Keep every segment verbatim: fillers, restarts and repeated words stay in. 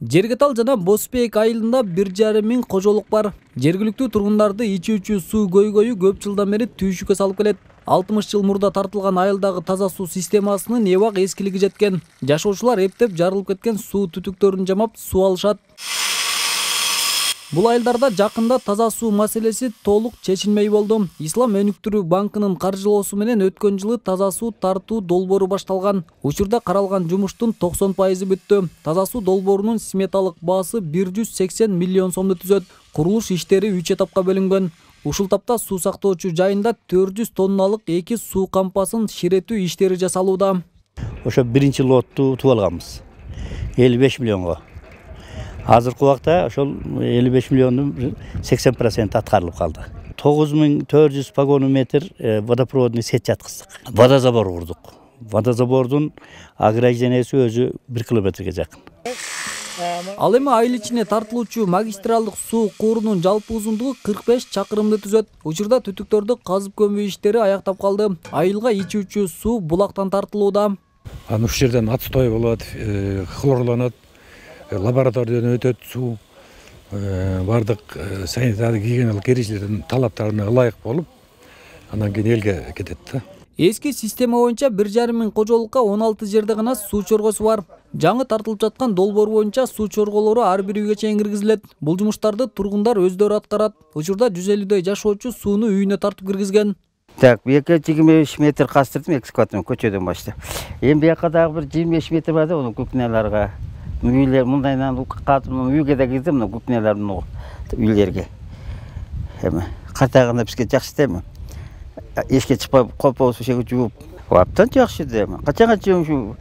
Жергетал жана Бозбек айылында бир жарым миң кожолук бар. Жергиликтүү тургундарды ичүүчү суу көйгөйү көп жылдан бери түйшүккө салып келет. алтымыш жыл мурда тартылган айылдагы таза суу системасынын эбак эскилиги жеткен. Жашоочулар эптеп жарылып кеткен суу түтүктөрүн жамап суу алышат. Бул айылдарда жакында таза суу маселеси толук чечилмей болду. Ислам өнүктүрүү банкынын каржылоосу менен өткөн жылы таза суу тартуу долбоору башталган. Учурда каралган жумуштун токсон пайызы бүттү. Таза суу долбоорунун сметалык баасы бир жүз сексен миллион сомду түзөт. Курулуш иштери үч этапка бөлүнгөн. Ушул тапта суу сактоочу жайында төрт жүз тонналык эки суу кампасын ширетүү иштери жасалууда. Ошо биринчи лотту утуп алганбыз. элүү беш миллионго. Азыркы убакта ошол элүү беш миллиондун сексен проценти аткарылып калды. тогуз миң төрт жүз погону метр водопроводный сеть жаткыздык. Водозабор курдук. Водозабордун огражденияси өзү бир километрге жакын. Ал эми айыл ичине тартылуучу магистралдык суу куурунун жалпы узундугу кырк беш чакырымды түзөт. Учурда түтүктөрдү казып көмүү иштери аяктап калды. Айылга ичүүчү суу булактан тартылууда. Анан ушул жерден отстой болот, хлорланат, лабораториядан өтөт суу, бардык санитардык гигиеналык эрежелердин талаптарына ылайык болуп, анан кийин элге кетет да. Эски система боюнча бир жарым миң кожолукка он алты жерде гана суу чоргосу бар. Жаңы тартылып жаткан долбоор боюнча суу чорголору ар бир үйгө чейин киргизилет. Бул жумуштарды тургундар өздөрү аткарат. Учурда жүз элүүдөй жашоочу сууну үйүнө тартып киргизген. Так, бияка жыйырма беш метр кастырдым экскаватормен көчөдөн баштап. Эми бияка дагы бир жыйырма беш метр бар да, онун кухняларга. Үйлер мындайдан катым үйгө да кирдим, мына кухнялардын үйлерге. Эми катагында бизге жакшы да эми. Эшикке чыкпай колпобуз ошого жууп, абдан жакшы да эми. Качанга чейин ушу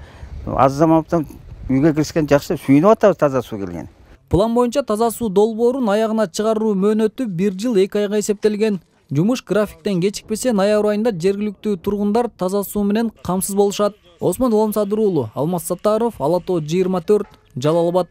аз замандан үйгө киришкен жакшы, сүйүнүп атабыз таза суу келген. План боюнча таза суу долбоорун аягына чыгаруу мөөнөтү бир жыл эки айга эсептелген. Жумуш графиктен кечикпесе ноябрь айында жергиликтүү тургундар таза суу менен камсыз болушат. Осмон Улам Садыр уулу, Алмаз Саттаров, Ала тоо жыйырма төрт, Жалал Абад.